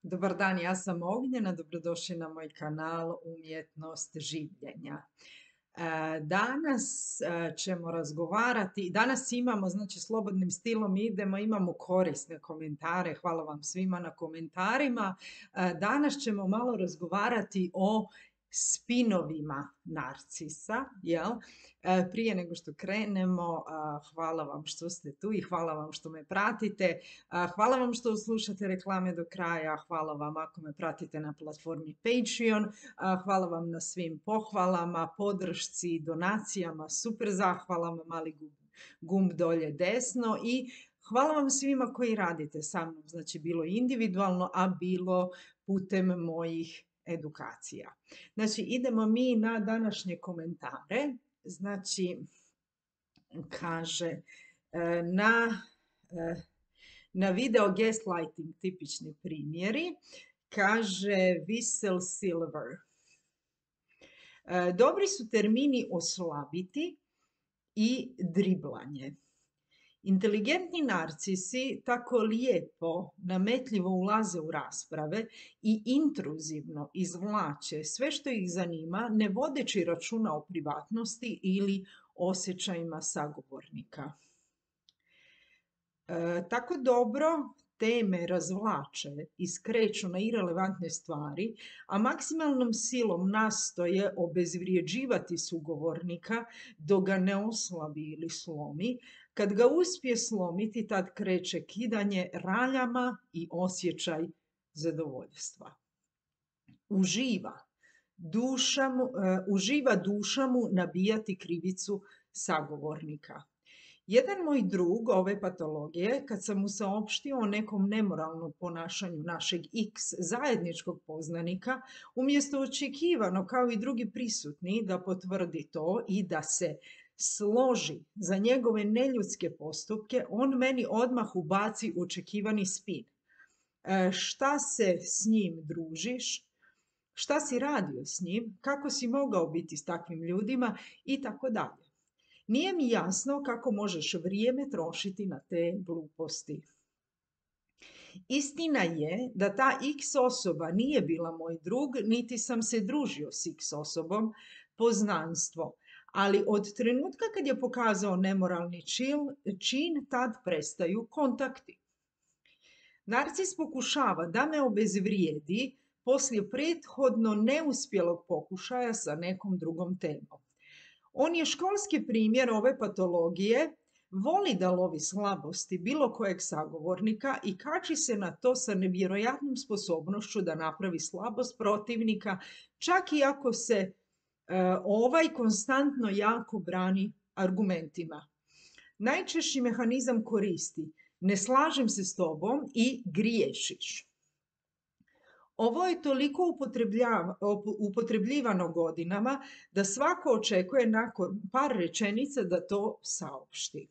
Dobar dan, ja sam Ognjena, dobrodošli na moj kanal Umjetnost življenja. Danas ćemo razgovarati, danas imamo, znači slobodnim stilom imamo korisne komentare, hvala vam svima na komentarima. Danas ćemo malo razgovarati o spinovima narcisa, jel? Prije nego što krenemo, hvala vam što ste tu i hvala vam što me pratite. Hvala vam što slušate reklame do kraja, hvala vam ako me pratite na platformi Patreon, hvala vam na svim pohvalama, podršci, donacijama, super zahvalama, mali gumb dolje desno i hvala vam svima koji radite sa mnom, znači bilo individualno, a bilo putem mojih edukacija. Znači idemo mi na današnje komentare, znači kaže na video gaslighting tipični primjeri, kaže Whistle Silver. Dobri su termini oslabiti i driblanje. Inteligentni narcisi tako lijepo, nametljivo ulaze u rasprave i intruzivno izvlače sve što ih zanima, ne vodeći računa o privatnosti ili osjećajima sagovornika. Tako dobro teme razvlače i skreću na irelevantne stvari, a maksimalnom silom nastoje obezvrijeđivati sugovornika dok ga ne oslabi ili slomi. Kad ga uspije slomiti, tad kreće kidanje raljama i osjećaj zadovoljstva. Uživa duša mu nabijati krivicu sagovornika. Jedan moj drug ove patologije, kad sam mu saopštio o nekom nemoralnom ponašanju našeg X zajedničkog poznanika, umjesto očekivano kao i drugi prisutni da potvrdi to i da se složi za njegove neljudske postupke, on meni odmah ubaci očekivani spin. Šta se s njim družiš? Šta si radio s njim? Kako si mogao biti s takvim ljudima? I tako dalje. Nije mi jasno kako možeš vrijeme trošiti na te gluposti. Istina je da ta X osoba nije bila moj drug, niti sam se družio s X osobom, poznanstvo. Ali od trenutka kad je pokazao nemoralni čin, tad prestaju kontakti. Narcis pokušava da me obezvrijedi poslije prethodno neuspjelog pokušaja sa nekom drugom temom. On je školski primjer ove patologije, voli da lovi slabosti bilo kojeg sagovornika i kači se na to sa nevjerojatnom sposobnošću da napravi slabost protivnika, čak i ako se ovaj konstantno jako brani argumentima. Najčešći mehanizam koristi: ne slažem se s tobom i griješiš. Ovo je toliko upotrebljivano godinama da svako očekuje nakon par rečenica da to saopšti.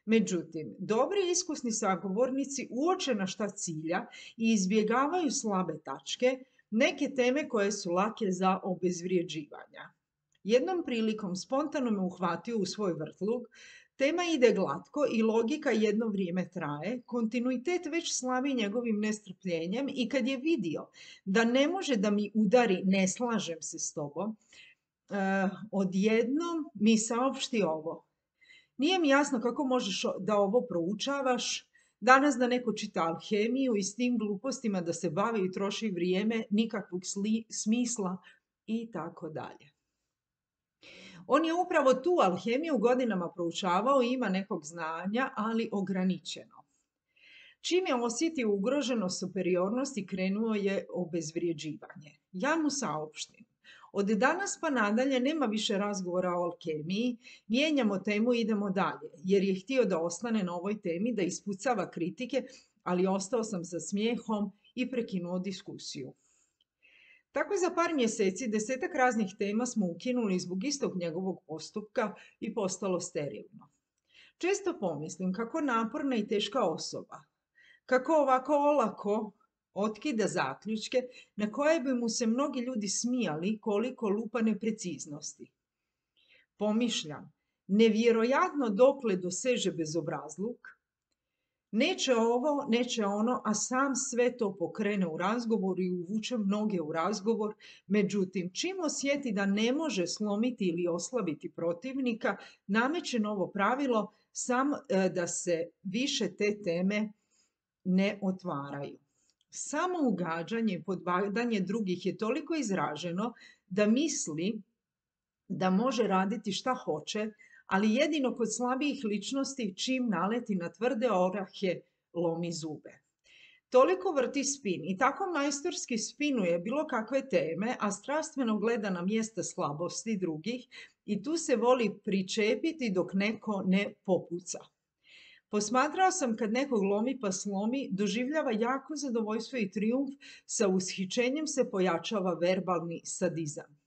Međutim, dobri i iskusni sagovornici uoče na šta cilja i izbjegavaju slabe tačke, neke teme koje su lake za obezvrjeđivanja. Jednom prilikom spontano me uhvatio u svoj vrtlog. Tema ide glatko i logika jedno vrijeme traje, kontinuitet već slavi njegovim nestrpljenjem i kad je vidio da ne može da mi udari ne slažem se s tobom, odjednom mi saopšti ovo. Nije mi jasno kako možeš da ovo proučavaš, danas da neko čita alhemiju i s tim glupostima da se bavi i troši vrijeme, nikakvog smisla i tako dalje. On je upravo tu alhemiju godinama proučavao i ima nekog znanja, ali ograničeno. Čim je osjetio ugroženost superiornosti, krenuo je obezvrjeđivanje. Ja mu saopštim: od danas pa nadalje nema više razgovora o alkemiji, mijenjamo temu i idemo dalje, jer je htio da ostane na ovoj temi, da ispucava kritike, ali ostao sam sa smijehom i prekinuo diskusiju. Tako za par mjeseci 10-ak raznih tema smo ukinuli zbog istog njegovog postupka i postalo sterilno. Često pomislim kako naporna i teška osoba, kako ovako olako otkida zaključke na koje bi mu se mnogi ljudi smijali koliko lupa nepreciznosti. Pomišljam, nevjerojatno dokle doseže bezobrazluk, Neće ovo, neće ono, a sam sve to pokrene u razgovor i uvuče mnoge u razgovor. Međutim, čim osjeti da ne može slomiti ili oslabiti protivnika, nameće novo pravilo da se više te teme ne otvaraju. Samo ugađanje i podbadanje drugih je toliko izraženo da misli da može raditi šta hoće, ali jedino kod slabijih ličnosti čim naleti na tvrde orahe lomi zube. Toliko vrti spin i tako majstorski spinuje bilo kakve teme, a strastveno gleda na mjesta slabosti drugih i tu se voli pričepiti dok neko ne popuca. Posmatrao sam kad nekog lomi pa slomi, doživljava jako zadovoljstvo i trijumf, sa ushićenjem se pojačava verbalni sadizam.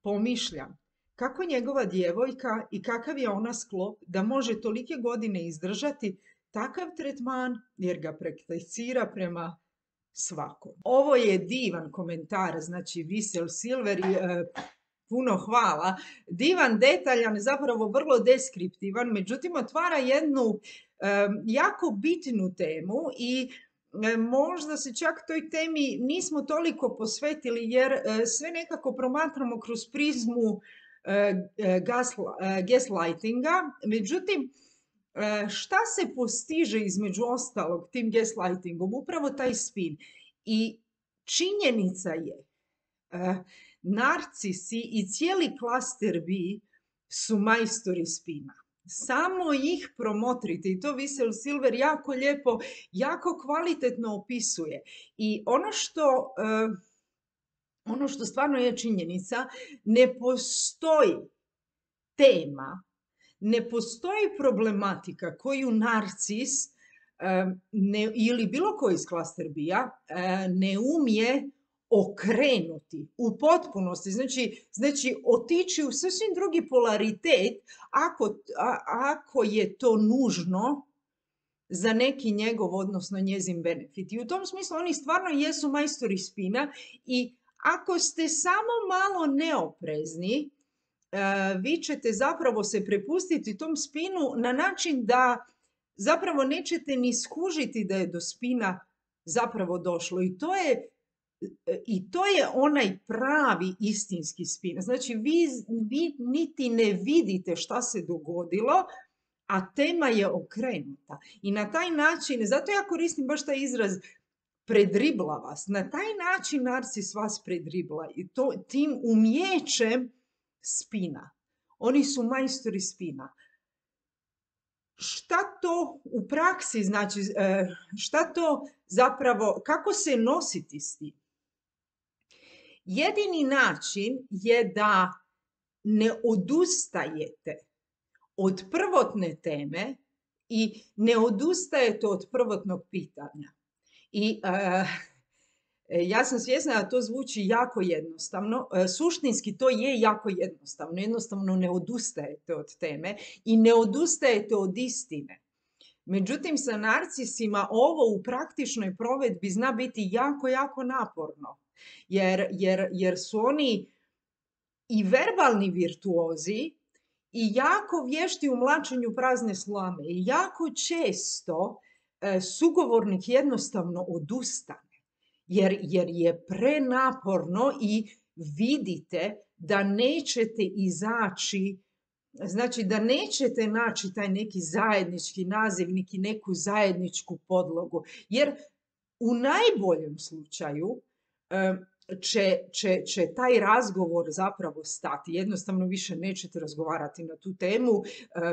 Pomišljam, kako njegova djevojka i kakav je ona sklop da može tolike godine izdržati takav tretman jer ga prakticira prema svakom. Ovo je divan komentar, znači Visel Silver i puno hvala. Divan, detaljan, zapravo vrlo deskriptivan, međutim otvara jednu jako bitnu temu i možda se čak toj temi nismo toliko posvetili jer sve nekako promatramo kroz prizmu gaslightinga. Međutim, šta se postiže između ostalog tim gaslightingom? Upravo taj spin. I činjenica je, narcisi i cijeli klaster B su majstori spina. Samo ih promotrite i to Visel Silver jako lijepo, jako kvalitetno opisuje. I ono što stvarno je činjenica, ne postoji tema, ne postoji problematika koju narcis ili bilo koji iz klaster B-a ne umije okrenuti u potpunosti, znači otići u sasvim drugi polaritet ako je to nužno za neki njegov, odnosno njezin benefit. I u tom smislu oni stvarno jesu majstori spina i ako ste samo malo neoprezni, vi ćete zapravo se prepustiti tom spinu na način da zapravo nećete ni skužiti da je do spina zapravo došlo. I to je onaj pravi istinski spin. Znači vi niti ne vidite šta se dogodilo, a tema je okrenuta. I na taj način, zato ja koristim baš taj izraz predribla vas. Na taj način narcis vas predribla i tim umijećem spina. Oni su majstori spina. Šta to u praksi znači, šta to zapravo, kako se nositi s tim? Jedini način je da ne odustajete od prvotne teme i ne odustajete od prvotnog pitanja. I ja sam svjesna da to zvuči jako jednostavno. Suštinski to je jako jednostavno. Jednostavno ne odustajete od teme i ne odustajete od istine. Međutim, sa narcisima ovo u praktičnoj provedbi zna biti jako, jako naporno. Jer su oni i verbalni virtuozi i jako vješti u mlačenju prazne slame. I jako često sugovornik jednostavno odustane. Jer je prenaporno i vidite da nećete izaći, znači da nećete naći taj neki zajednički nazivnik i neku zajedničku podlogu. Jer u najboljem slučaju će taj razgovor zapravo stati. Jednostavno više nećete razgovarati na tu temu.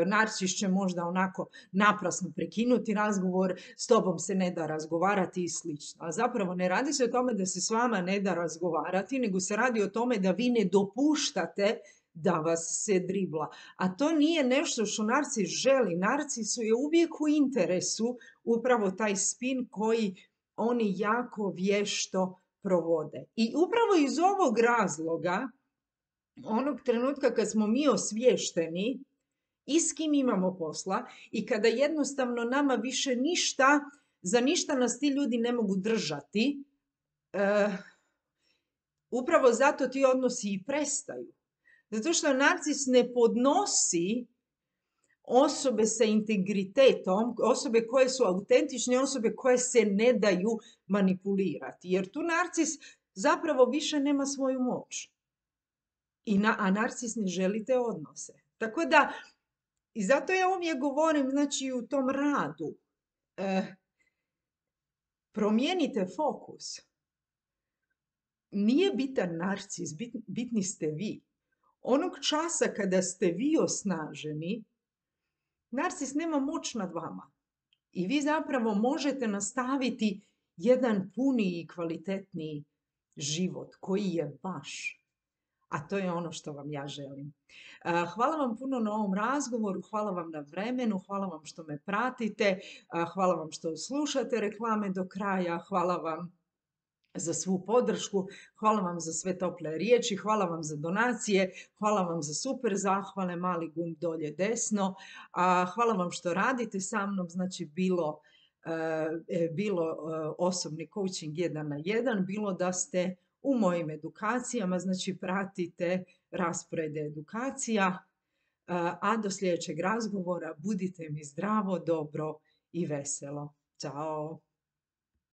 Narcis će možda onako naprasno prekinuti razgovor, s tobom se ne da razgovarati i slično. A zapravo ne radi se o tome da se s vama ne da razgovarati, nego se radi o tome da vi ne dopuštate da vas se dribla. A to nije nešto što narcis želi. Narcisu je uvijek u interesu upravo taj spin koji oni jako vješto provode. I upravo iz ovog razloga, onog trenutka kad smo mi osviješteni i s kim imamo posla i kada jednostavno nama više za ništa nas ti ljudi ne mogu držati, upravo zato ti odnosi i prestaju. Zato što narcis ne podnosi osobe sa integritetom, osobe koje su autentične, osobe koje se ne daju manipulirati. Jer tu narcis zapravo više nema svoju moć. A narcis ne želi te odnose. Tako da, i zato ja uvijek govorim, znači u tom radu, promijenite fokus. Nije bitan narcis, bitni ste vi. Onog časa kada ste vi osnaženi, narcis nema moć nad vama. I vi zapravo možete nastaviti jedan puniji i kvalitetniji život koji je vaš. A to je ono što vam ja želim. Hvala vam puno na ovom razgovoru, hvala vam na vremenu, hvala vam što me pratite, hvala vam što slušate reklame do kraja, hvala vam za svu podršku, hvala vam za sve tople riječi, hvala vam za donacije, hvala vam za super zahvale, mali gumb dolje desno, hvala vam što radite sa mnom, znači bilo osobni coaching 1 na 1, bilo da ste u mojim edukacijama, znači pratite rasporede edukacija, a do sljedećeg razgovora budite mi zdravo, dobro i veselo. Ćao!